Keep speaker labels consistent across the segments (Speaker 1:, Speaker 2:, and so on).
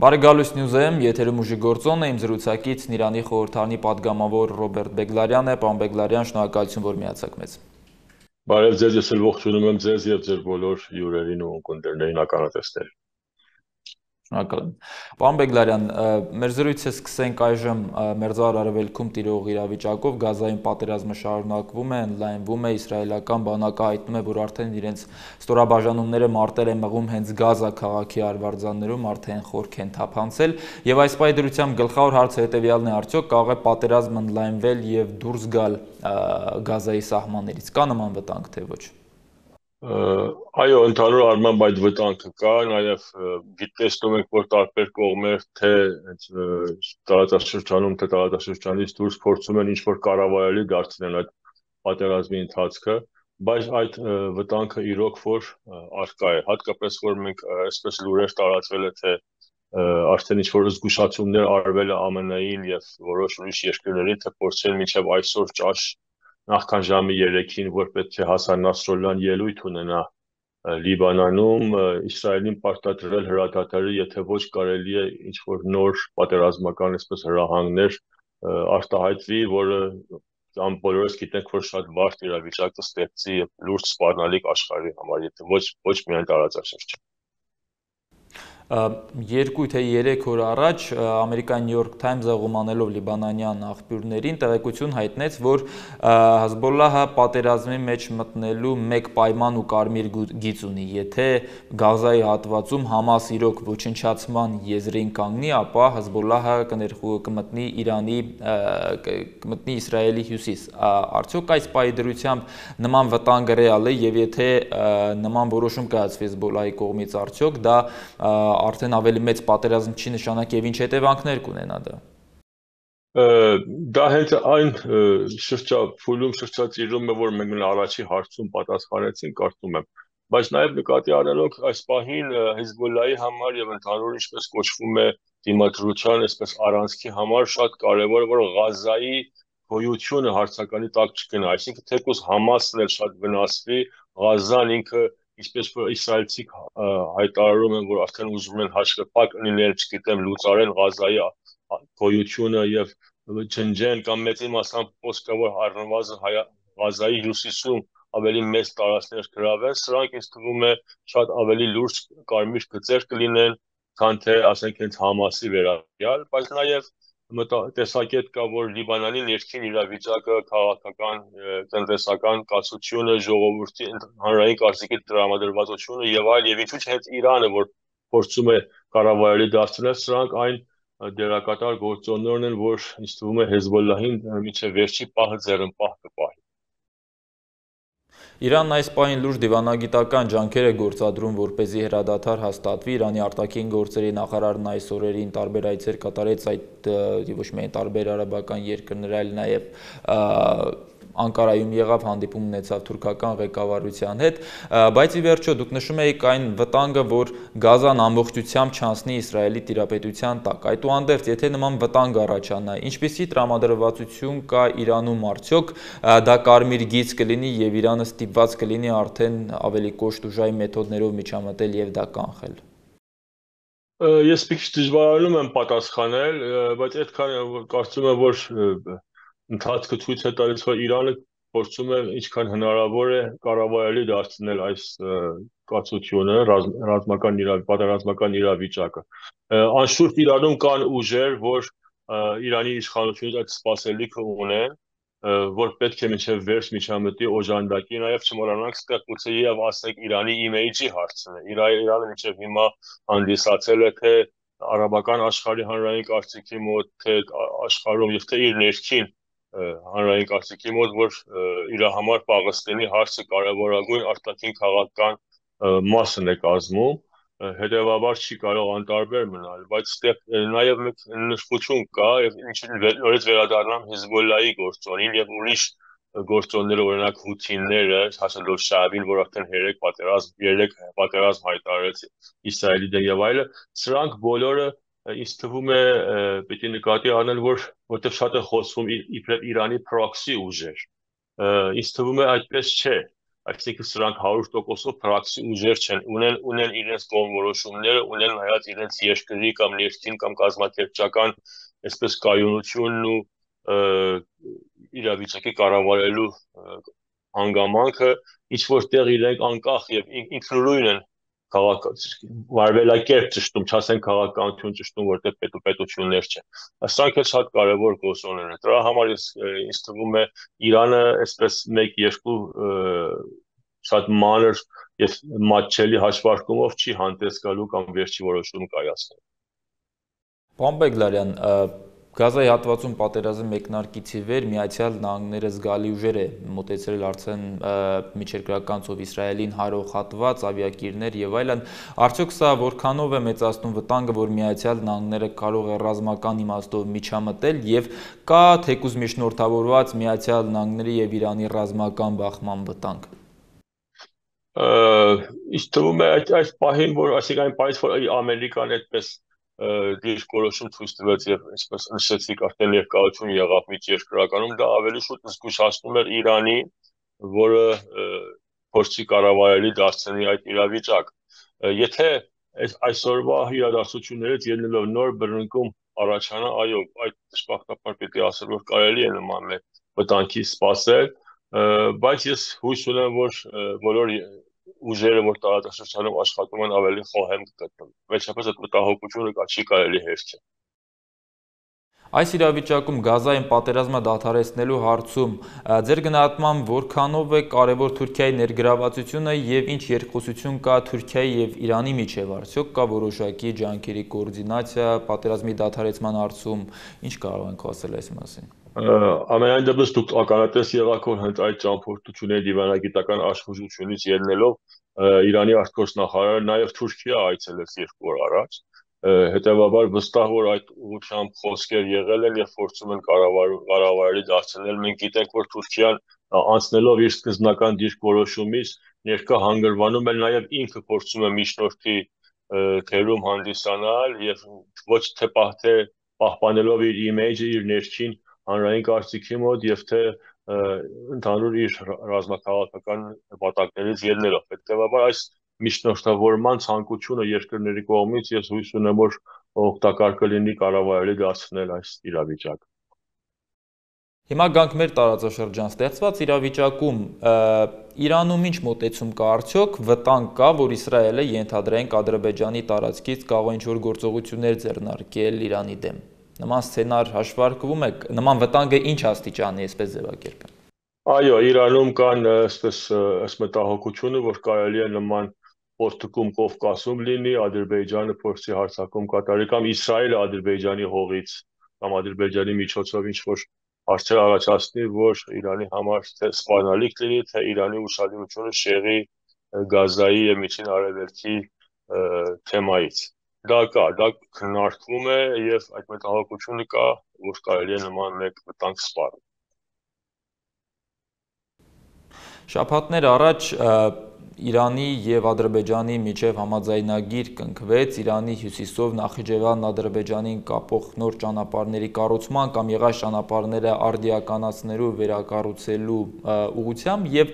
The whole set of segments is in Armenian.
Speaker 1: Բարեկալույս Նյուզեմ, եթերում ուժի գործոնն է, իմ զրուցակիցն Իրանի խորհրդարանի պատգամավոր Ռոբերտ Բեգլարյանն է, պարոն Բեգլարյան, շնորհակալություն, որ միացաք մեզ։
Speaker 2: Բարև ձեզ, ես էլ ողջունում եմ ձեզ եւ ձեր բոլոր հյուրերին ու ունկնդիրներին, ականատեսներին։
Speaker 1: Շնորհակալ եմ։ Պարոն Բեգլարյան, մեր զրույցը սկսենք այժմ Մերձավոր Արևելքում տիրող իրավիճակով, Գազայում պատերազմը շարունակվում է, ընդլայնվում է, իսրայելական բանակը հայտնում է, որ արդեն իրենց ստորաբաժանումները մարտեր են մղում հենց Գազա քաղաքի արվարձաններում, արդեն խորք են թափանցել, եւ այս պայդրությամբ գլխավոր հարցը հետեւյալն է, արդյոք կարող է պատերազմը ընդլայնվել եւ դուրս գալ Գազայի սահմաններից, կա նման վտանգ թե ոչ։
Speaker 2: Այո, ընդհանուր առմամբ այդ վտանգը կա, նաև տեսնում ենք, որ տարբեր կողմեր թե տարածաշրջանում, թե տարածաշրջանից դուրս փորձում են ինչ-որ կառավարելի դարձնել այդ պատերազմի ընթացքը, բայց այդ վտանգը իրոք որ առկա է, հատկապես որ մենք այսպես լուրեր տարածվել է, թե արդեն ինչ-որ զգուշացումներ արվել է ԱՄՆ-ին եւ որոշ ուրիշ երկրների, թե փորձեն մինչեւ այսօր ճաշ նախքան ժամի 3-ին, որ պետք է Հասան Նասրալլահն ելույթ ունենա Լիբանանում, Իսրայելին պարտադրել հրադադարի, եթե ոչ կարելի է ինչ-որ նոր պատերազմական այսպես հրահանգներ արտահայտվի, որը բոլորս գիտենք, որ շատ բարդ իրավիճակ կստեղծի լուրջ սպառնալիք աշխարհի համար, եթե ոչ միայն տարածաշրջան։
Speaker 1: 2 թե 3 օր առաջ Ամերիկայի New York Times-ը ղումանելով լիբանանյան աղբյուրներին տեղեկություն հայտնեց, որ Հեզբոլլահը պատերազմի մեջ մտնելու մեկ պայման ու կարմիր գիծ ունի, եթե Գազայի հատվածում Համաս իրոք ոչնչացման եզրին կանգնի, ապա Հեզբոլլահը կմտնի կմտնի Իսրայելի հյուսիս։ Արդյոք այս պայդրությամբ նման վտանգը ռեալ է եւ եթե նման որոշում կայացվի Հեզբոլլահի կողմից, արդյոք դա արդեն ավելի մեծ պատերազմ չի նշանակի եւ ինչ հետևանքներ կունենա դա։
Speaker 2: Դա հենց այն փուլում շրջածիրում է, որ մենք առաջի հարցում պատասխանեցինք, կարծում եմ, բայց նաեւ նկատի առնելով այս պահին Հեզբոլլահի համար եւ ընդհանուր ինչպես կոչվում է դիմադրության այսպես առանցքի համար շատ կարեւոր է, որ Գազայի գոյությունը հարցականի տակ չգնա, այսինքն թեկուզ Համասն էլ շատ վնասվի, Գազան ինքը ինչպես որ իսրայելցիք հայտարարում են, որ արդեն ուզում են հաշվեպակ լինել, չգիտեմ, լուծարեն Գազայի գոյությունը եւ ջնջեն կամ մեծի մասամբ խոսքը որ առնվազն Գազայի հյուսիսում ավելի մեծ տարածքներ գրավեն, սրանք ինձ թվում է շատ ավելի լուրջ կարմիր գծեր կլինեն, քան թե ասենք հենց Համասի վերաբերյալ, բայց նաեւ տեսակետ կա, որ Լիբանանի ներքին իրավիճակը, քաղաքական, տնտեսական կացությունը, ժողովրդի հանրային կարծիքի տրամադրվածությունը եւ այլ եւ ինչու՞ չէ հենց Իրանը, որ փորձում է կառավարելի դարձնել, սրանք այն դերակատար գործոններն են, որ ինձ թվում է Հեզբոլլահին մինչեւ վերջի պահը ձեռնպահ կպահի։
Speaker 1: Իրանն այս պահին լուրջ դիվանագիտական ջանքեր է գործադրում, որպեսզի հրադադար հաստատվի։ Իրանի արտաքին գործերի նախարարն այս օրերին տարբեր այցեր կատարեց այդ ոչ միայն տարբեր արաբական երկրներ, այլ նաև Անկարայում եղավ, հանդիպում ունեցավ թուրքական ղեկավարության հետ, բայց ի վերջո դուք նշում եք այն վտանգը, որ Գազան ամբողջությամբ չանցնի Իսրայելի տիրապետության տակ։ Այդուհանդերձ, եթե նման վտանգ առաջանա, ինչպիսի տրամադրվածություն կա Իրանում արդյոք, դա կարմիր գիծ կլինի եւ Իրանը ստիպված կլինի արդեն ավելի կոշտ-ուժային մեթոդներով միջամտել եւ դա կանխել։
Speaker 2: Ես մի քիչ դժվարանում եմ պատասխանել, բայց այդքան կարծում եմ, որ ընթացքը ցույց է տալիս, որ Իրանը փորձում է ինչքան հնարավոր է կառավարելի դարձնել այս կացությունը, պատերազմական իրավիճակը։ Անշուշտ Իրանում կան ուժեր, որ Իրանի իշխանությունից այդ սպասելիքը ունեն, որ պետք է մինչև վերջ միջամտի օժանդակի, նաև չմոռանանք ստեղ գուցե եւ ասենք Իրանի իմիջի հարցն է։ Իրանը մինչև հիմա հանդիսացել է թե արաբական աշխարհի հանրային կարծիքի մոտ, թե աշխարհում եւ թե իր ներքին հանրային կարծիքի մոտ, որ իր համար Պաղեստինի հարցը կարևորագույն արտաքին քաղաքական մասն է կազմում, հետևաբար չի կարող անտարբեր մնալ, բայց ստեղ նաև մեկ նշություն կա, եւ նորից վերադառնամ Հեզբոլլահի գործոնին եւ ուրիշ գործոնները, օրինակ հութիները, հասնելով Շաաբին, որ արդեն 3 պատերազմ հայտարարեց Իսրայելի դեմ եւ այլը, սրանք բոլորը ինձ թվում է պիտի նկատի առնել, որտեղ շատ է խոսվում իբրև Իրանի պրոքսի ուժեր։ Ինձ թվում է այդպես չէ։ այսինքն սրանք 100%-ով փրակսի ուժեր չեն, ունեն իրենց կողմնորոշումները, ունեն հայաց իրենց երկրի կամ ներքին կամ կազմակերպչական այսպես կայունությունն ու իրավիճակի կառավարելու հանգամանքը, ինչ որտեղ իրենք անկախ եւ ինքնուրույն են վարվելակերպ ճշտում, չասեն քաղաքականություն ճշտում, որտեղ պետություններ չեն։ Սրանք էլ շատ կարևոր գործոններ են։ Դրա համար ինձ թվում է Իրանը այսպես 1-2 շատ մանր եւ մատչելի հաշվարկումով չի հանդես գալու կամ վերջի որոշում կայացնել։
Speaker 1: Պարոն Բեգլարյան, Գազայի հատվածում պատերազմի մեկնարկից ի վեր Միացյալ Նահանգները զգալի ուժեր է մոտեցրել արդեն միջերկրական ծով Իսրայելին հարող հատված, ավիակիրներ եւ այլն, արդյոք սա որքանով է մեծացնում վտանգը, որ Միացյալ Նահանգները կարող է ռազմական իմաստով միջամտել եւ կա թեկուզ միջնորդավորված Միացյալ Նահանգների եւ Իրանի ռազմական բախման վտանգ։
Speaker 2: Իսկ թվում է այս պահին, որ այսինքն այն պահից, որ Ամերիկան այդպես դիրքորոշում ցույց տվեց եւ այսպես նշեցիք արդեն ներկայություն եղավ միջերկրականում, դա ավելի շուտ զգուշացնում էր Իրանի, որը փորձի կառավարելի դարձնի այդ իրավիճակ։ Եթե այսօրվա իրադարձություններից ելնելով նոր բռնկում առաջանա, այո, այդ դժբախտաբար պիտի ասել, որ կարելի է նման վտանգի սպասել, բայց ես հույս ունեմ, որ բոլոր ուժերը, որ տարածաշրջանում աշխատում են, ավելի խոհեմ կգտնվեն։ Վերջապես այդ մտահոգությունը չի կարելի հերքել։
Speaker 1: Այս իրավիճակում Գազային պատերազմը դադարեցնելու հարցում ձեր գնահատմամբ որքանով է կարևոր Թուրքիայի ներգրավվածությունը եւ ինչ երկխոսություն կա Թուրքիայի եւ Իրանի միջեւ, արդյոք կա որոշակի ջանքերի կոորդինացիա պատերազմի դադարեցման հարցում, ինչ կարող ենք ասել այս մասին։
Speaker 2: Ամենայն դեպս դուք ականատես եղաք, որ հենց այդ ճամփորդությունների դիվանագիտական աշխուժությունից ելնելով Իրանի արտգործնախարարը նաև Թուրքիա այցելեց 2 օր առաջ, հետևաբար վստահ որ այդ ուղղությամբ խոսքեր եղել են եւ փորձում են կառավարելի դարձնել։ Մենք գիտենք, որ Թուրքիան անցնելով իր սկզբնական դիրքորոշումից ներկա հանգրվանում է նաև ինքը փորձում է միջնորդի թերում հանդիսանալ եւ ոչ թե պահպանելով իր իմիջը, իր ներքին հանրային կարծիքի մոտ եւ թե ընդհանուր իր ռազմաքաղաքական նպատակներից ելնելով։ Հետևաբար այս միջնորդավորման ցանկությունը երկրների կողմից ես հույս ունեմ, որ օգտակար կլինի կառավարելի դարձնել այս իրավիճակը։
Speaker 1: Հիմա գանք մեր տարածաշրջան ստեղծված իրավիճակում Իրանում ինչ մոտեցում կա արդյոք, վտանգ կա, որ Իսրայելը ենթադրենք Ադրբեջանի տարածքից կարող է ինչ-որ գործողություններ ձեռնարկել Իրանի դեմ։ Նման սցենար հաշվարկվում է, նման վտանգը ինչ աստիճանի է, այսպես ձևակերպեմ։
Speaker 2: Այո, Իրանում կան այսպես մտահոգությունը, որ կարելի է նման փոստկում Կովկասում լինի, Ադրբեջանը փորձի հարձակում կատարի կամ Իսրայելը Ադրբեջանի հողից կամ Ադրբեջանի միջոցով ինչ-որ հարցեր առաջացնի, որ Իրանի համար թե սպառնալիք լինի, թե Իրանի ուշադրությունը շեղի Գազայի եւ Միջին Արևելքի թեմայից։ Դա քննարկվում է եւ այդ մտահոգությունը կա, որ կարելի է նման մեկ վտանգ սպառել։
Speaker 1: Շաբաթներ առաջ Իրանի եւ Ադրբեջանի միջև համաձայնագիր կնքվեց Իրանի հյուսիսով Նախիջևան Ադրբեջանին կապող նոր ճանապարհների կառուցման կամ եղած ճանապարհները արդիականացնելու վերակառուցելու ուղղությամբ եւ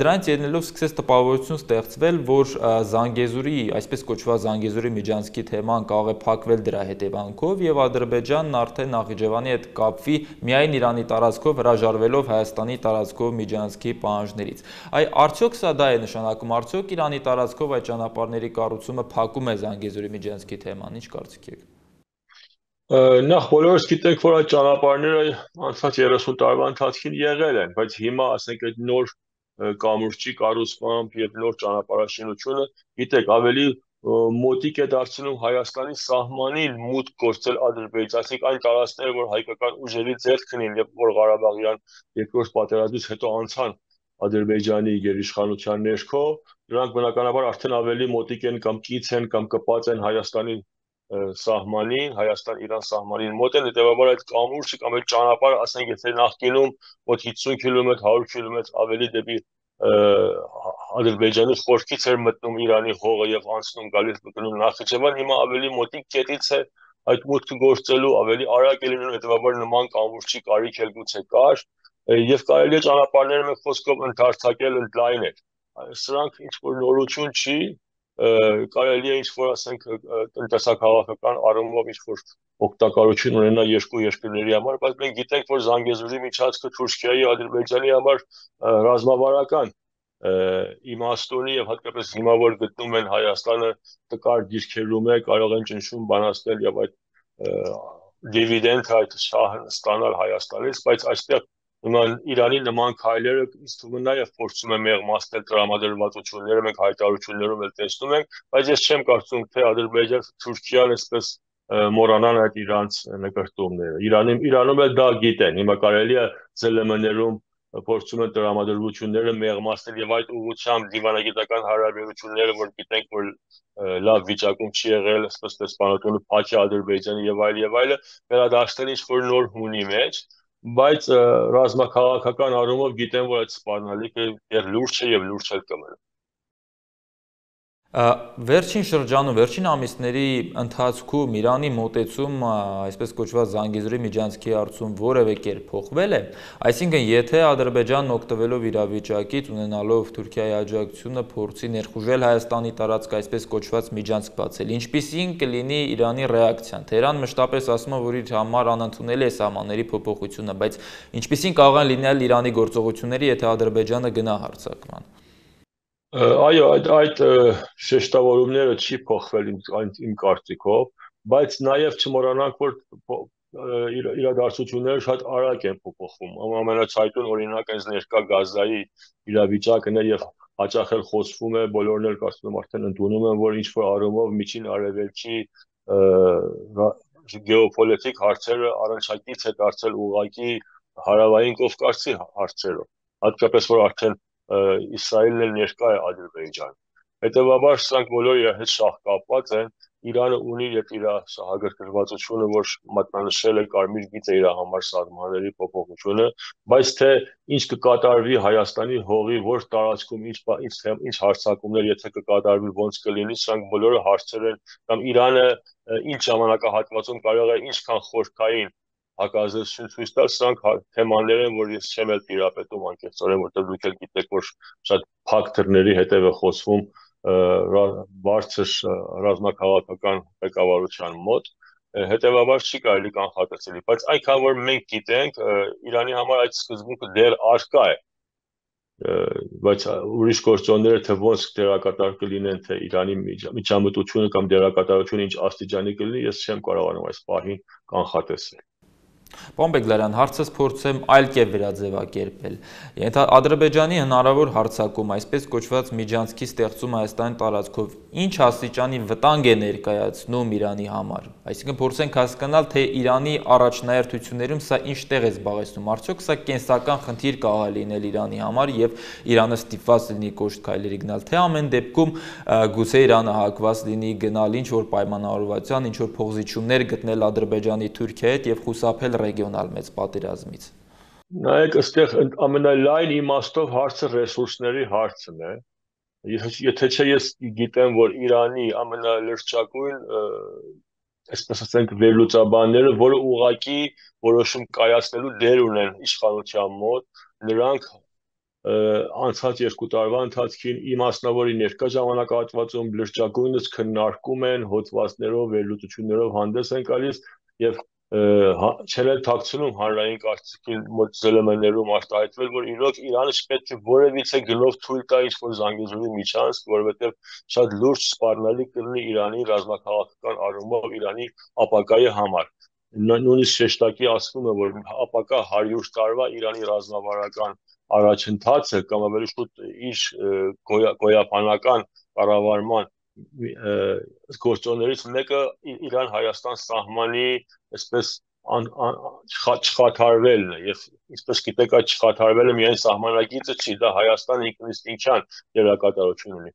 Speaker 1: դրանից ելնելով սկսեց տպավորություն ստեղծվել, որ Զանգեզուրի, այսպես կոչված Զանգեզուրի միջանցքի թեման կարող է փակվել դրա հետևանքով եւ Ադրբեջանն արդեն Նախիջևանի հետ կապվի միայն Իրանի տարածքով հրաժարվելով Հայաստանի տարածքով միջանցքի պահանջներից։ Արդյոք սա դա է նշանակում, արդյոք Իրանի տարածքով այդ ճանապարհների կառուցումը փակում է Զանգեզուրի միջանցքի թեման, ինչ կարծիք եք։
Speaker 2: Նախ բոլորս գիտենք, որ այդ ճանապարհները անցած 30 տարվա ընթացքում եղել են, բայց հիմա ասենք այդ նոր կամուրջի կառուցմամբ եւ նոր ճանապարհաշինությունը, գիտեք, ավելի մոտիկ է դարձնում Հայաստանի սահմանին մուտք գործել Ադրբեջանցիք այն տարածքները, որ հայկական ուժերի ձեռքն են եւ որ Ղարաբաղյան երկրորդ պատերազմից հետո անցան Ադրբեջանի գերիշխանության ներքո, նրանք բնականաբար արդեն ավելի մոտիկ են կամ կից են կամ կպած են Հայաստանի սահմանին, Հայաստան-Իրան սահմանին մոտ են, հետևաբար այդ կամուրջը կամ այդ ճանապարհը, ասենք, եթե նախկինում մոտ 50 կիլոմետր, 100 կիլոմետր ավելի դեպի Ադրբեջանի խորքից էր մտնում Իրանի հողը եւ անցնում գալիս մտնում Նախիջևան, հիմա ավելի մոտիկ կետից է այդ մուտքը գործելու, ավելի արագ է լինում, հետևաբար նման կամուրջի կարիք էլ գուցե կար եւ կարելի է ճանապարհները մեկ խոսքով ընդարձակել, ընդլայնել։ սրանք ինչ որ նորություն չի, կարելի է ինչ որ ասենք տնտեսական առումով ինչ որ օգտակարություն ունենա երկու երկրների համար, բայց մենք գիտենք, որ Զանգեզուրի միջանցքը Թուրքիայի, Ադրբեջանի համար ռազմավարական իմաստ ունի եւ հատկապես հիմա որ գտնում են Հայաստանը տկար դիրքերում է, կարող են ճնշում բանացնել եւ այդ դիվիդենդ այդ շահը ստանալ Հայաստանից, բայց այստեղ Իրանի նման քայլերը ինձ թվում է նաև փորձում է մեղմացնել տրամադրվածությունները, մենք հայտարարություններում էլ տեսնում ենք, բայց ես չեմ կարծում, թե Ադրբեջանը, Թուրքիան այսպես մոռանան այդ իրանց նկարտումները։ Իրանում էլ դա գիտեն։ Հիմա կարելի է ԶԼՄ-ներում փորձում են տրամադրությունները մեղմացնել եւ այդ ուղղությամբ դիվանագիտական հարաբերությունները, որ գիտենք, որ լավ վիճակում չի եղել, այսպես դեսպանատունը փակ է Ադրբեջանի եւ այլը, վերադարձնել ինչ որ նոր հունի մեջ, բայց ռազմաքաղաքական առումով գիտեմ, որ այդ սպառնալիքը դեռ լուրջ է եւ լուրջ էլ կմնա։
Speaker 1: Վերջին շրջանում, վերջին ամիսների ընթացքում Իրանի մոտեցում, այսպես կոչված Զանգեզուրի միջանցքի հարցում որևէ կերպ փոխվել է, այսինքն եթե Ադրբեջանն օգտվելով իրավիճակից, ունենալով Թուրքիայի աջակցությունը, փորձի ներխուժել Հայաստանի տարածքը, այսպես կոչված միջանցք բացել, ինչպիսին կլինի Իրանի ռեակցիան։ Թեհրան մշտապես ասում է, որ իր համար անընդունել է սահմանների փոփոխությունը, բայց ինչպիսին կարող են լինել Իրանի գործողությունները, եթե Ադրբեջանը գնա հարձակման։
Speaker 2: Այո, այդ շեշտավորումները չի փոխվել իմ կարծիքով, բայց նաև չմոռանանք, որ իրադարձությունները շատ արագ են փոփոխվում։ Ամենացայտուն օրինակ այս ներկա Գազայի իրավիճակն է եւ հաճախ էլ խոսվում է, բոլորն էլ կարծում եմ արդեն ընդունում են, որ ինչ որ առումով միջին արևելքի գեոպոլիտիկ հարցերը առնչակից է դարձել ուղղակի հարավային Կովկասի հարցերով, հատկապես որ արդեն Իսրայելն էլ ներկա է Ադրբեջան։ Հետևաբար սրանք բոլորը իր հետ շահ կապված են։ Իրանը ունի եւ իր սահագրգռվածությունը, որ մատնանշել է կարմիր գիծը իր համար սահմանների փոփոխությունը, բայց թե ինչ կկատարվի Հայաստանի հողի որ տարածքում ինչ հարձակումներ եթե կկատարվի ոնց կլինի, սրանք բոլորը հարցեր են կամ Իրանը ինչ ժամանակահատվածում կարող է ինչքան խորքային հակազդեցություն ցույց տալ, սրանք թեմաներ են, որ ես չեմ էլ տիրապետում անկեղծորեն, որտեղ դուք էլ գիտեք, որ շատ փակ դռների հետև է խոսվում բարձր ռազմաքաղաքական ղեկավարության մոտ, հետևաբար չի կարելի կանխատեսելի, բայց այնքան որ մենք գիտենք, Իրանի համար այդ սկզբունքը դեռ առկա է, բայց ուրիշ գործոնները թե ոնց դերակատար կլինեն, թե Իրանի միջամտությունը կամ դերակատարությունը ինչ աստիճանի կլինի, ես չեմ կարողանում այս պահին կանխատեսել։
Speaker 1: Պարոն Բեգլարյան, հարցս փորձեմ այլ կերպ վերաձևակերպել։ Ադրբեջանի հնարավոր հարձակում, այսպես կոչված միջանցքի ստեղծում Հայաստանի տարածքով, ինչ աստիճանի վտանգ է ներկայացնում Իրանի համար։ Այսինքն փորձենք հասկանալ, թե Իրանի առաջնահերթություններում սա ինչ տեղ է զբաղեցնում։ Արդյոք սա կենսական խնդիր կարող է լինել Իրանի համար եւ Իրանը ստիպված լինի կոշտ քայլերի գնալ, թե ամեն դեպքում գուցե Իրանը հակված լինի գնալ ինչ որ պայմանավորվածության, ինչ որ փոխզիջումներ գտնել Ադրբեջանի Թուրքիայի հետ եւ խուսափել ռեգիոնալ մեծ պատերազմից։
Speaker 2: Նայեք, այստեղ ամենալայն իմաստով հարցը ռեսուրսների հարցն է։ Եթե չէ ես գիտեմ, որ Իրանի ամենալրջակույն, այսպես ասենք, վերլուծաբանները, որը ուղղակի որոշում կայացնելու դեր ունեն իշխանության մոտ, նրանք անցած 2 տարվա ընթացքին իմաստնավորի ներկա ժամանակահատվածում լրջակույնս քննարկում են, հոդվածներով, վերլուծություններով հանդես են գալիս եւ չեն էլ թաքցնում հանրային կարծիքի մոտ ԶԼՄ-ներում արտահայտվել, որ իրոք Իրանը չպետք է որևիցե գնով թույլ տա ինչ-որ Զանգեզուրի միջանցք, որովհետև շատ լուրջ սպառնալի կլինի Իրանի ռազմաքաղաքական առումով Իրանի ապագայի համար։ Նույնիսկ շեշտակի ասվում է, որ ապագա 100 տարվա Իրանի ռազմավարական առաջընթացը կամ ավելի շուտ իր գոյաբանական կառավարման գործոններից մեկը Իրան-Հայաստան սահմանի այսպես չխաթարվելն է եւ ինչպես գիտեք այդ չխաթարվելը միայն սահմանագիծը չի, դա Հայաստանը ինքնիստինքյան դերակատարություն ունի։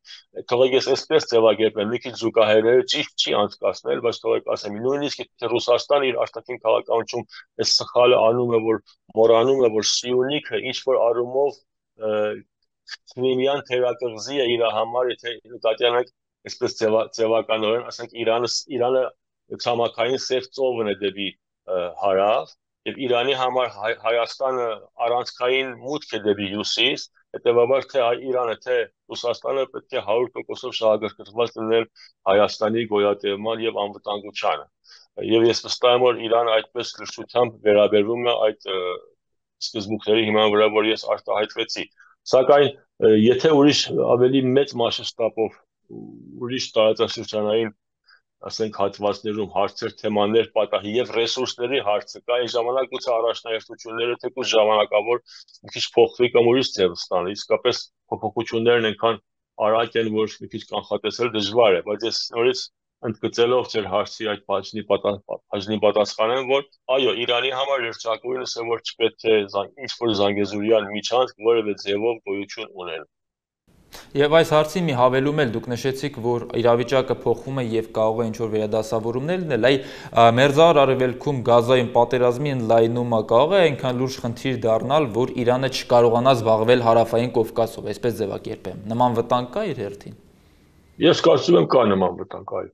Speaker 2: Թողեք ես այսպես ձևակերպեմ, մի քիչ զուգահեռերը ճիշտ չի անցկացնել, բայց թողեք ասեմ, նույնիսկ եթե Ռուսաստանը իր արտաքին քաղաքականությունում այս սխալը անում է, որ մոռանում է, որ Սիունիքը ինչ որ առումով Քրիմյան թերակղզի է իր համար, եթե նկատի ունենք այսպես ձևականորեն, ասենք Իրանը ցամաքային սև ծովն է դեպի հարավ եւ Իրանի համար Հայաստանը առանցքային մուտք է դեպի հյուսիս Հետևաբար թե Իրանը, թե Ռուսաստանը պետք է 100%-ով շահագրգռված լինեն Հայաստանի գոյատևման եւ անվտանգությանը։ Եվ ես վստահ եմ, որ Իրանը այդպես գրշությամբ վերաբերվում է այդ սկզբունքների հիման վրա, որ ես արտահայտվեցի։ Սակայն եթե ուրիշ ավելի մեծ մասշտաբով ուրիշ տարածաշրջանային ասենք հատվածներում հարցեր, թեմաներ պատահի եւ ռեսուրսների հարցը կա, այն ժամանակ գուցե առաջնահերթությունները թեկուզ ժամանակավոր մի քիչ փոխվի կամ ուրիշ ձև ստանի, իսկապես փոփոխություններն այնքան արագ են, որ մի քիչ կանխատեսել դժվար է, բայց ես նորից ընդգծելով ձեր հարցի այդ բաժնի պատասխանեմ, որ այո, Իրանի համար երջանկույնս է, որ չպետք է ինչ-որ զանգեզուրյան միջանցք որևէ ձևով գոյություն ունենա։
Speaker 1: Եվ այս հարցի մի հավելում էլ դուք նշեցիք, որ իրավիճակը փոխվում է եւ կարող է ինչ-որ վերադասավորումներ լինել, այ Մերձավոր Արևելքում Գազայում պատերազմի ընդլայնումը կարող է այնքան լուրջ խնդիր դառնալ, որ Իրանը չկարողանա զբաղվել հարավային Կովկասով, այսպես ձևակերպեմ։ Նման վտանգ կա իր հերթին։
Speaker 2: Ես կարծում եմ կա նման վտանգ, այո։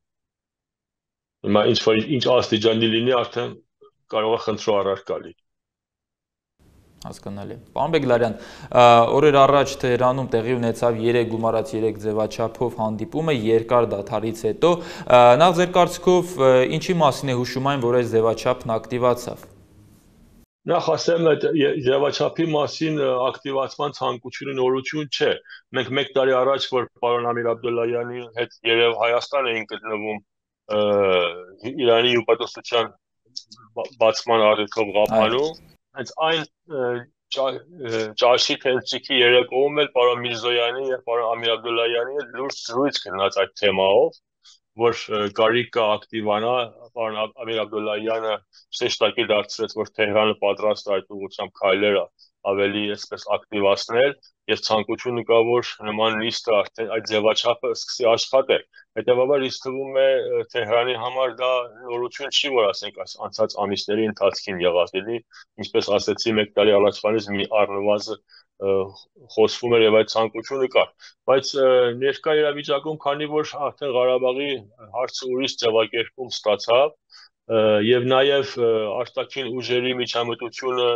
Speaker 2: Հիմա ինչ աստիճանի լինի, արդեն կարող է խնդրու առարկա լինի։
Speaker 1: Հասկանալի։ Պարոն Բեգլարյան, օրեր առաջ Թեհրանում տեղի ունեցավ 3 գումարած 3 ձևաչափով հանդիպումը երկար դադարից հետո։ Նախ ձեր կարծիքով ինչի մասին է հուշում այն, որ այս ձևաչափն ակտիվացավ։
Speaker 2: Նախ ասեմ, այդ ձևաչափի մասին ակտիվացման ցանկությունը նորություն չէ։ Մենք 1 տարի առաջ, որ պարոն Ամիր Աբդոլլահյանի հետ երև Հայաստան էին գտնվում Իրանի հյուպատոսության բացման առիթով Ղափանում, հենց այն ճաշի թենթրիկի երեկոում էլ պարոն Միրզոյանի եւ պարոն Ամիր Աբդոլլահյանի հետ լուրջ զրույց գնաց այդ թեմայով, որ կարիք կա ակտիվանա, պարոն Ամիր Աբդոլլահյանը շեշտակի դարձրեց, որ Թեհրանը պատրաստ է այդ ուղղությամբ քայլերը ավելի այսպես ակտիվացնել եւ ցանկությունը կա, որ նման նիստը արդեն այդ ձևաչափը սկսի աշխատել։ Հետևաբար ինձ թվում է Թեհրանի համար դա նորություն չի, որ ասենք անցած ամիսների ընթացքին եղած էլի, ինչպես ասեցի 1 տարի առաջվանից մի առնվազն խոսվում էր եւ այդ ցանկությունը կար, բայց ներկա իրավիճակում, քանի որ արդեն Ղարաբաղի հարցը ուրիշ ձևակերպում ստացավ եւ նաեւ արտաքին ուժերի միջամտությունը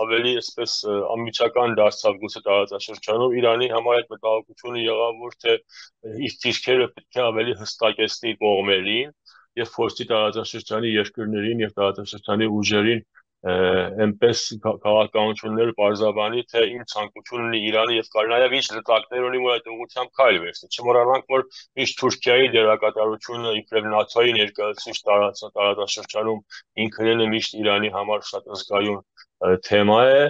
Speaker 2: ավելի այսպես անմիջական դարձավ գուցե տարածաշրջանում, Իրանի համար այդ մտահոգությունը եղավ, որ թե իր դիրքերը պետք է ավելի հստակեցնի կողմերին եւ փորձի տարածաշրջանի երկրներին եւ տարածաշրջանի ուժերին այնպես քաղաքականություններ պարզաբանի, թե ինչ ցանկություն ունի Իրանը եւ նաեւ ինչ լծակներ ունի, որ այդ ուղղությամբ քայլ վերցնի։ Չմոռանանք, որ միշտ Թուրքիայի դերակատարությունը իբրև ՆԱՏՕ-ի ներկայացուցիչ տարածաշրջանում ինքնին է միշտ Իրանի համար շատ զգայուն թեմա է։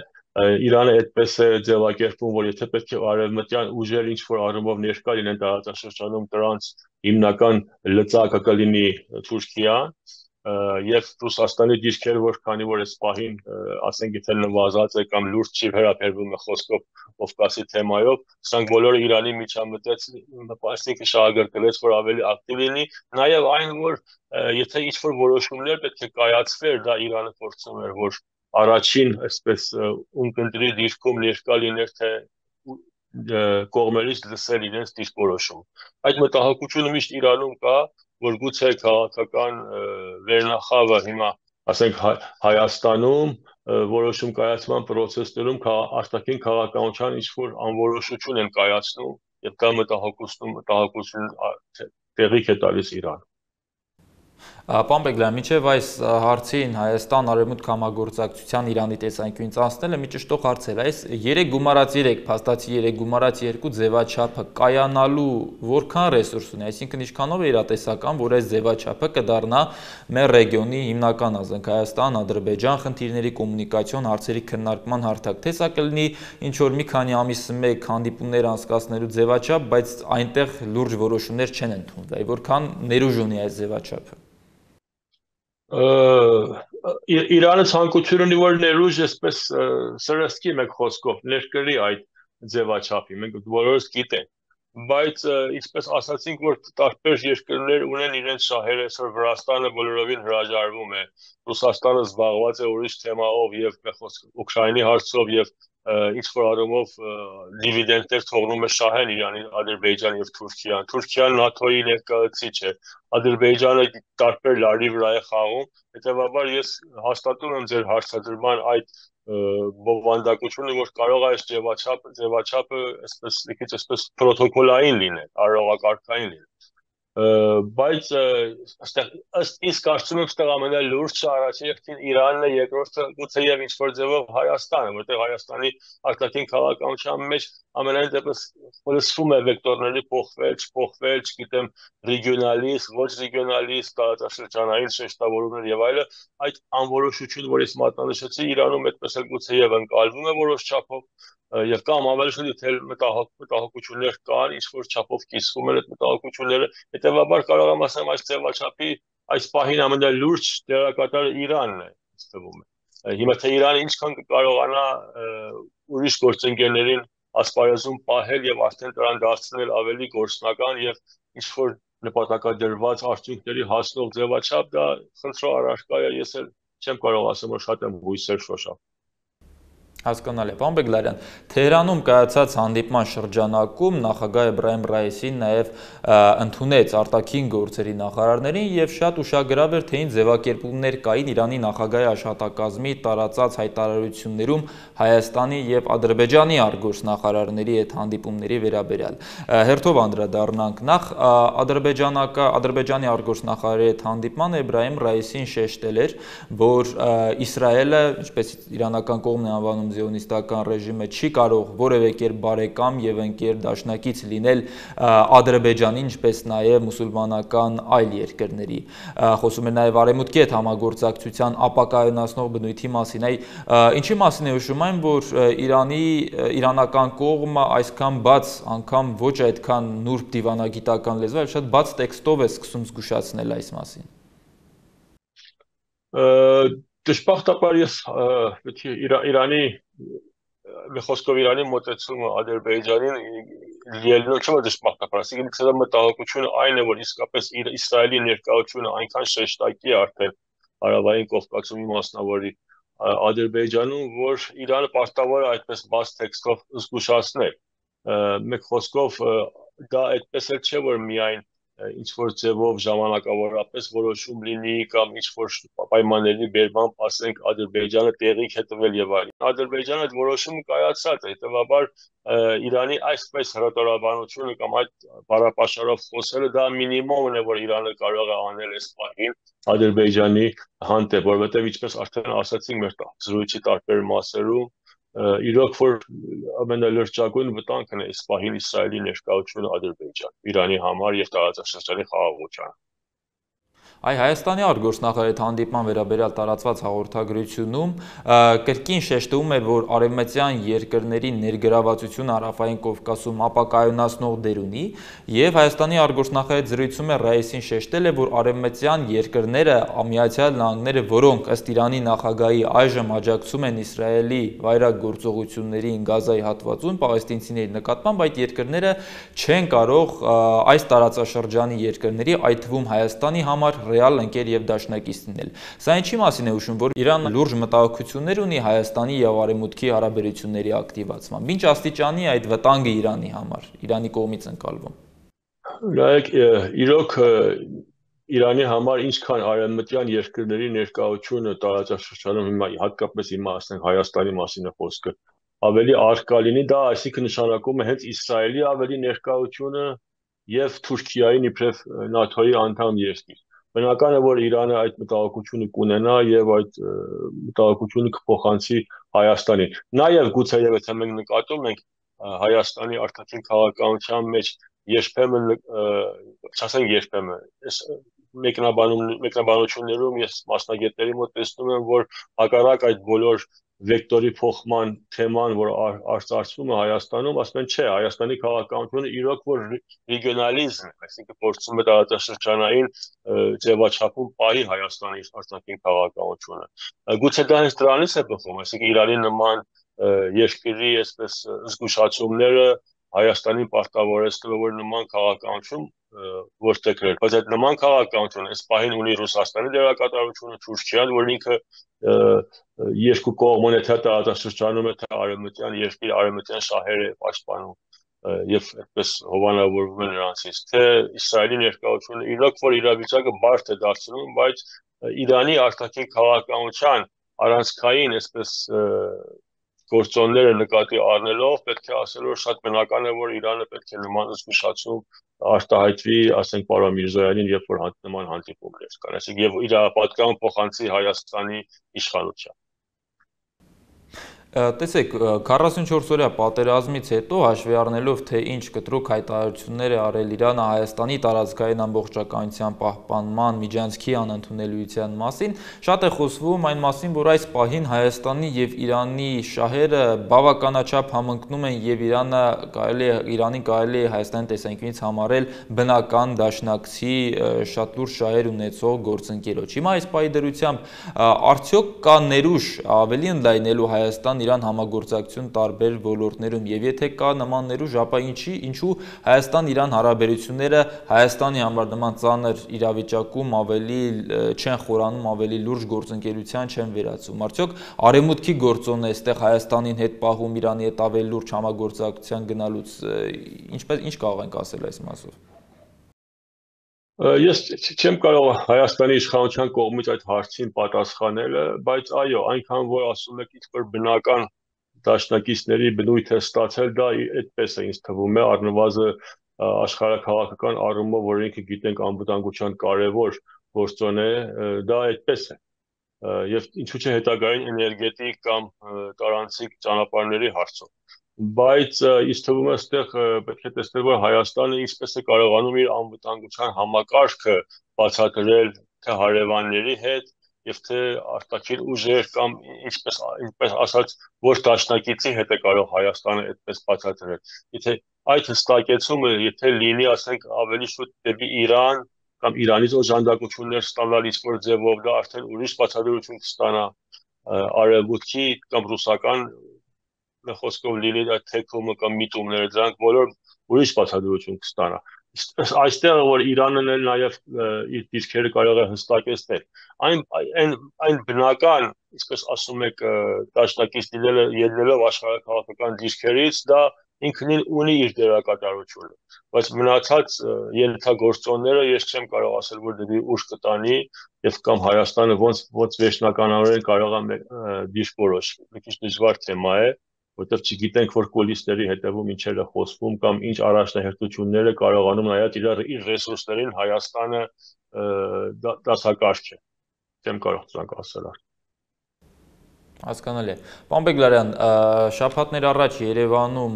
Speaker 2: Իրանը այդպես է ձևակերպում, որ եթե պետք է արևմտյան ուժեր ինչ-որ առումով ներկա լինեն տարածաշրջանում, դրանց հիմնական լծակը կլինի Թուրքիան եւ Ռուսաստանի դիրքերը, որ քանի որ այս պահին ասենք եթե նվազած է կամ լուրջ չի վերաբերվում է խոսքով Կովկասի թեմայով, սրանք բոլորը Իրանի միջամտեց, այսինքն շահագրգռեց, որ ավելի ակտիվ լինի, նաեւ այն, որ եթե ինչ-որ որոշումներ պետք է կայացվեր, դա Իրանը փորձում էր, որ առաջին այսպես ունկնդրի դիրքում ներկա լիներ, թե կողմերից լսել իրենց դիրքորոշում։ Այդ մտահոգությունը միշտ Իրանում կա, որ գուցե քաղաքական վերնախավը հիմա, ասենք Հայաստանում որոշում կայացման process-ներում արտաքին քաղաքականության ինչ-որ անորոշություն են կայացնում եւ դա մտահոգություն տեղիք է տալիս Իրան։
Speaker 1: Պարոն Բեգլարյան, մինչև այս հարցին Հայաստան-Արևմուտք համագործակցության Իրանի տեսանկյունից անցնելը մի ճշտող հարց էր, այս 3 գումարած 3, փաստացի 3 գումարած 2 ձևաչափը կայանալու որքան ռեսուրս ունի, այսինքն ինչքանով է իրատեսական, որ այս ձևաչափը կդառնա մեր ռեգիոնի հիմնական ազգ Հայաստան, Ադրբեջան խնդիրների կոմունիկացիոն հարցերի քննարկման հարթակ, թե սա կլինի ինչ որ մի քանի ամիսը մեկ հանդիպումներ անցկացնելու ձևաչափ, բայց այնտեղ լուրջ որոշումներ չեն ընդունվի, որքան ներուժ ունի այս ձևաչափը։
Speaker 2: Իրանը ցանկություն ունի, որ ներուժ այսպես սրսկի մեկ խոսքով ներկրի այդ ձևաչափի, մենք բոլորս գիտենք, բայց ինչպես ասացինք, որ տարբեր երկրներ ունեն իրենց շահերը, այսօր Վրաստանը բոլորովին հրաժարվում է, Ռուսաստանը զբաղված է ուրիշ թեմայով եւ Ուկրաինի հարցով եւ ինչ որ առումով դիվիդենտներ թողնում է շահեն Իրանի, Ադրբեջան եւ Թուրքիան։ Թուրքիան ՆԱԹՕ-ի ներկայացուցիչ է, Ադրբեջանը տարբեր լարի վրա է խաղում, հետեւաբար ես հաստատում եմ ձեր հարցադրման այդ բովանդակությունը, որ կարող է այս ձևաչափը այսպես մի քիչ այսպես պրոտոկոլային լինել, արարողակարգային լինել։ Բայց ըստ իս կարծում եմ այստեղ ամենալուրջը առաջին հերթին Իրանն է, երկրորդը գուցեև ինչ որ ձևով Հայաստանը, որտեղ Հայաստանի արտաքին քաղաքականության մեջ ամենայն դեպս խոսվում է վեկտորների փոխվել, չփոխվել, չգիտեմ, ռեգիոնալիստ, ոչ ռեգիոնալիստ, տարածաշրջանային շեշտավորումներ եւ այլը, այդ անորոշությունը, որ ես մատնանշեցի, Իրանում այդպես էլ գուցեև ընկալվում է որոշ չափով եւ կամ ավելի շուտ թե մտահոգություններ կան, ինչ որ չափով կիսվում են այդ մտահոգությունները, հետեւաբար կարող եմ ասեմ այս ձևաչափի այս պահին ամենալուրջ դերակատարը Իրանն է, թվում է։ Հիմա թե Իրանը ինչքան կկարողանա ուրիշ գործընկերներին ասպարեզում պահել եւ արդեն դրան դարձնել ավելի գործնական եւ ինչ որ նպատակադրված արդյունքների հասնող ձևաչափ, դա խնդրո առարկա է, ես էլ չեմ կարող ասեմ, որ շատ եմ հույսեր շոշափ։
Speaker 1: Հասկանալի է, պարոն Բեգլարյան, Թեհրանում կայացած հանդիպման շրջանակում նախագահ Էբրահիմ Ռայիսին նաև ընդունեց արտաքին գործերի նախարարներին եւ շատ ուշագրավ էր, թե ինչ ձևակերպումներ կային Իրանի նախագահի աշխատակազմի տարածած հայտարարություններում Հայաստանի եւ Ադրբեջանի արտգործնախարարների այդ հանդիպումների վերաբերյալ։ Հերթով անդրադառնանք նախ Ադրբեջանի արտգործնախարարի հետ հանդիպման Էբրահիմ Ռայիսին շեշտել էր, որ Իսրայելը, ինչպես իրանական կողմն է անվանում զիոնիստական ռեժիմը, չի կարող որևէ կերպ բարեկամ եւ ընկեր դաշնակից լինել Ադրբեջանի, ինչպես նաեւ մուսուլմանական այլ երկրների։ Խոսում է նաեւ Արևմուտքի հետ համագործակցության ապակայունացնող բնույթի մասին։ Ինչի մասին է հուշում այն, որ իրանական կողմը այսքան բաց, անգամ ոչ այդքան նուրբ դիվանագիտական լեզվով, այլ շատ բաց տեքստով է սկսում զգուշացնել այս մասին։
Speaker 2: Դժբախտաբար ես Իրանի մի խոսքով Իրանի մոտեցումը Ադրբեջանին ելնող չէ, որ դժբախտաբար, ասիկին քսը մտահոգությունը այն է, որ իսկապես Իսրայելի ներկայությունը այնքան շեշտակի է արդեն Հարավային Կովկասում մասնավորի Ադրբեջանում, որ Իրանը պարտավոր է այդպես բաց տեքստով զգուշացնել։ Մեկ խոսքով դա այդպես էլ չէ, որ միայն ինչ որ ձևով ժամանակավորապես որոշում լինի կամ ինչ որ պայմանների բերմամբ ասենք Ադրբեջանը տեղիք է տվել եւ այլն։ Ադրբեջանը այդ որոշումը կայացած է, հետեւաբար Իրանի այսպես հրատարակաբանությունը կամ այդ բառապաշարով խոսելը դա մինիմումն է, որ Իրանը կարող է անել այս պահին Ադրբեջանի հանդեպ, որովհետեւ ինչպես արդեն ասացինք մեր զրույցի տարբեր մասերում, իրոք որ ամենալրջագույն վտանգն է այս պահին Իսրայելի ներկայությունը Ադրբեջան, Իրանի համար եւ տարածաշրջանի խաղաղությանը։
Speaker 1: Հայաստանի արտգործնախարարի հանդիպման վերաբերյալ տարածված հաղորդագրությունում կրկին շեշտվում էր, որ արևմտյան երկրների ներգրավվածությունը Հարավային Կովկասում ապակայունացնող դեր ունի, եւ Հայաստանի արտգործնախարարի զրույցում Ռայիսին շեշտել է, որ արևմտյան երկրները, Միացյալ Նահանգները, որոնք ըստ Իրանի նախագահի այժմ աջակցում են Իսրայելի վայրագ գործողություններին Գազայի հատվածում պաղեստինցիների նկատմամբ, այդ երկրները չեն կարող այս տարածաշրջանի երկրների, այդ թվում Հայաստանի համար ռեալ ընկեր եւ դաշնակից լինել։ Սա ինչի մասին է հուշում, որ Իրանը լուրջ մտահոգություններ ունի Հայաստանի եւ Արևմուտքի հարաբերությունների ակտիվացման։ Ինչ աստիճանի է այդ վտանգը Իրանի համար, Իրանի կողմից ընկալվում։
Speaker 2: Նայեք, իրոք Իրանի համար ինչքան արևմտյան երկրների ներկայությունը տարածաշրջանում հիմա հատկապես հիմա ասենք Հայաստանի մասին է խոսքը, ավելի արկա լինի, դա այսինքն նշանակում է հենց Իսրայելի ավելի ներկայությունը եւ Թուրքիայի իբրև ՆԱԹՕ-ի անդամ երկիր։ Բնական է, որ Իրանը այդ մտահոգությունը կունենա եւ այդ մտահոգությունը կփոխանցի Հայաստանին։ Նաեւ գուցեև եթե մենք նկատում ենք Հայաստանի արտաքին քաղաքականության մեջ երբեմն, չասենք երբեմն, մեկնաբանություններում ես մասնագետների մոտ տեսնում եմ, որ հակառակ այդ բոլոր վեկտորի փոխման թեման, որ արծարծվում է Հայաստանում, ասում են չէ, Հայաստանի քաղաքականությունը իրոք որ ռեգիոնալիզմ է, այսինքն փորձում է տարածաշրջանային ձևաչափում պահի Հայաստանի արտաքին քաղաքականությունը։ Գուցե դա հենց դրանից է բխում, այսինքն Իրանի նման երկրի այսպես զգուշացումները Հայաստանին պարտավորեցնելով որ նման քաղաքականություն որտեղ բայց այդ նման քաղաքականություն այս պահին ունի Ռուսաստանի դերակատարությունը Թուրքիան, որ ինքը երկու կողմն է թե տարածաշրջանում է թե արևմտյան երկիր արևմտյան շահերը պաշտպանում եւ այդպես հովանավորվում է նրանցից թե Իսրայելի ներկայությունը իրոք որ իրավիճակը բարդ է դարձնում, բայց Իրանի արտաքին քաղաքականության առանցքային այսպես գործոնները նկատի առնելով պետք է ասել որ շատ բնական է որ Իրանը պետք է նման զգուշացում արտահայտվի, ասենք պարոն Միրզոյանին, երբ որ նման հանդիպումներ կան, այսինքն եւ իր պատկան փոխանցի Հայաստանի իշխանության։
Speaker 1: Տեսեք, 44-օրյա պատերազմից հետո հաշվի առնելով թե ինչ կտրուկ հայտարարություններ է արել Իրանը Հայաստանի տարածքային ամբողջականության պահպանման միջանցքի անընդունելիության մասին, շատ է խոսվում այն մասին, որ այս պահին Հայաստանի եւ Իրանի շահերը բավականաչափ համընկնում են եւ Իրանին կարելի է Հայաստանի տեսանկյունից համարել բնական դաշնակցի շատ լուրջ շահեր ունեցող գործընկերոջ։ Հիմա այս պահի դրությամբ արդյոք կա ներուժ ավելի ընդլայնելու Հայաստան-Իրան համագործակցություն տարբեր ոլորտներում եւ եթե կա նման ներուժ, ապա ինչու Հայաստան-Իրան հարաբերությունները Հայաստանի համար նման ծանր իրավիճակում ավելի չեն խորանում, ավելի լուրջ գործընկերության չեն վերածվում։ Արդյոք արևմուտքի գործոնն է այստեղ Հայաստանին հետ պահում Իրանի հետ ավելի լուրջ համագործակցության գնալուց ինչ կարող ենք ասել այս մասով։
Speaker 2: Ես չեմ կարող Հայաստանի իշխանության կողմից այդ հարցին պատասխանելը, բայց այո, այնքան որ ասում եք ինչ-որ բնական դաշնակիցների բնույթ է ստացել, դա այդպես է ինձ թվում է, առնվազն աշխարհաքաղաքական առումով, որ ինքը գիտենք անվտանգության կարևոր գործոն է, դա այդպես է։ Եվ ինչու՞ չէ հետագային էներգետիկ կամ տարանցիկ ճանապարհների հարցով։ Բայց ինձ թվում է այստեղ պետք է տեսնել որ Հայաստանը ինչպես է կարողանում իր անվտանգության համակարգը բացատրել թե հարևանների հետ եւ թե արտաքին ուժեր կամ ինչպես ասած ոչ դաշնակիցի հետ է կարող Հայաստանը այդպես բացատրել։ Եթե այդ հստակեցումը եթե լինի ասենք ավելի շուտ դեպի Իրան կամ Իրանից օժանդակություններ ստանալ ինչ-որ ձևով դա արդեն ուրիշ բացատրություն կստանա արևմուտքի կամ ռուսական խոսքով լինի այդ թեքումը կամ միտումները դրանք բոլոր ուրիշ բացատրություն կստանա։ Այստեղ որ Իրանն էլ նաև իր դիրքերը կարող է հստակեցնել։ Այն բնական, ինչպես ասում եք, դաշնակից ելնելով աշխարհաքաղաքական դիրքերից, դա ինքնին ունի իր դերակատարությունը, բայց մնացած ենթագործոնները ես չեմ կարող ասել, որ դեպի ուժ կտանի եւ կամ Հայաստանը ոնց վերջնականորեն կարող է դիրք որոշի։ Մի քիչ դժվար թեմա է, որտեղ չգիտենք որ կուլիսների հետևում ինչեր է խոսվում կամ ինչ առաջնահերթությունները կարողանում նայած իր ռեսուրսներին Հայաստանը դասակարգ է։ Չեմ կարող դրանք ասել։
Speaker 1: Հասկանալի է։ Պարոն Բեգլարյան, շաբաթներ առաջ Երևանում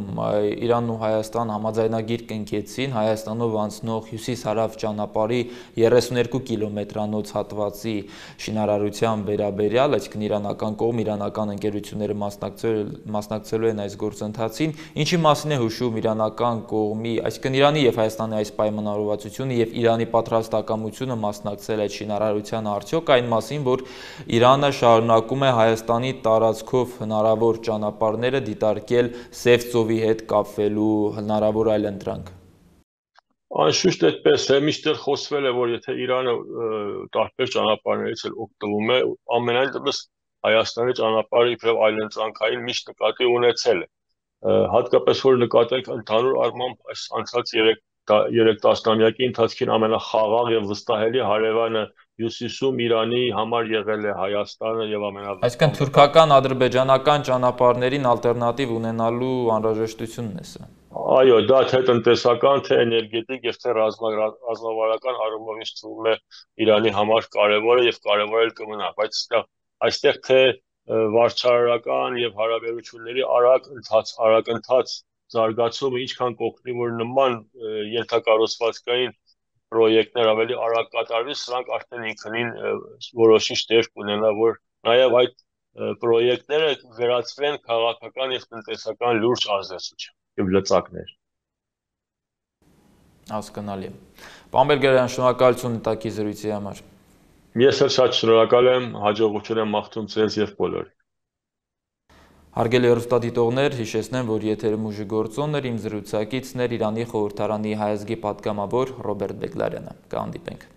Speaker 1: Իրանն ու Հայաստան համաձայնագիր կնքեցին Հայաստանով անցնող հյուսիս-հարավ ճանապարհի 32 կիլոմետրանոց հատվածի շինարարության վերաբերյալ, այսինքն իրանական կողմ, իրանական ընկերությունները մասնակցելու են այս գործընթացին, ինչի մասին է հուշում իրանական կողմի, այսինքն Իրանի եւ Հայաստանի այս պայմանավորվածությունը եւ Իրանի պատրաստակամությունը մասնակցել այդ շինարարությանը արդյոք այն մասին, որ Իրանը շարունակում է Հայաստանի տարածքով հնարավոր ճանապարհները դիտարկել Սև ծովի հետ կապվելու հնարավոր այլ ընտրանք։
Speaker 2: Անշուշտ այդպես է, միշտ խոսվել է, որ եթե Իրանը տարբեր ճանապարհներից էլ օգտվում է, ամենայն դեպս Հայաստանի ճանապարհը իբրև այլ ընտրանքային միշտ նկատի ունեցել է։ Հատկապես որ նկատենք ընդհանուր առմամբ այս անցած 3 տասնամյակի ընթացքին ամենախաղաղ եւ վստահելի հարևանը Հյուսիսում Իրանի համար եղել է Հայաստանը եւ ամենավստահ։
Speaker 1: Այսինքն թուրքական, ադրբեջանական ճանապարհներին ալտերնատիվ ունենալու անհրաժեշտությունն է սա։
Speaker 2: Այո, դա թե տնտեսական, թե էներգետիկ եւ թե ռազմավարական առումով ինձ թվում է Իրանի համար կարեւոր է եւ կարեւոր էլ կմնա, բայց այստեղ թե վարչարարական եւ հարաբերությունների արագ ընթաց զարգացումը ինչքան կօգնի որ նման ենթակառուցվածքային պրոյեկտներ ավելի արագ կատարվի, սրանք արդեն ինքնին որոշիչ դեր կունենա, որ նաև այդ պրոյեկտները վերածվեն քաղաքական եւ տնտեսական լուրջ ազդեցության եւ լծակներ։
Speaker 1: Հասկանալի է։ Պարոն Բեգլարյան, շնորհակալություն տակի զրույցի համար։
Speaker 2: Ես էլ շատ շնորհակալ եմ, հաջողություն եմ մաղթում ձեզ եւ բոլորին։
Speaker 1: Հարգելի հեռուստադիտողներ, հիշեցնեմ, որ եթերում ուժի գործոն էր, իմ զրուցակիցն էր Իրանի խորհրդարանի հայազգի պատգամավոր Ռոբերտ Բեգլարյանը։ Կհանդիպենք։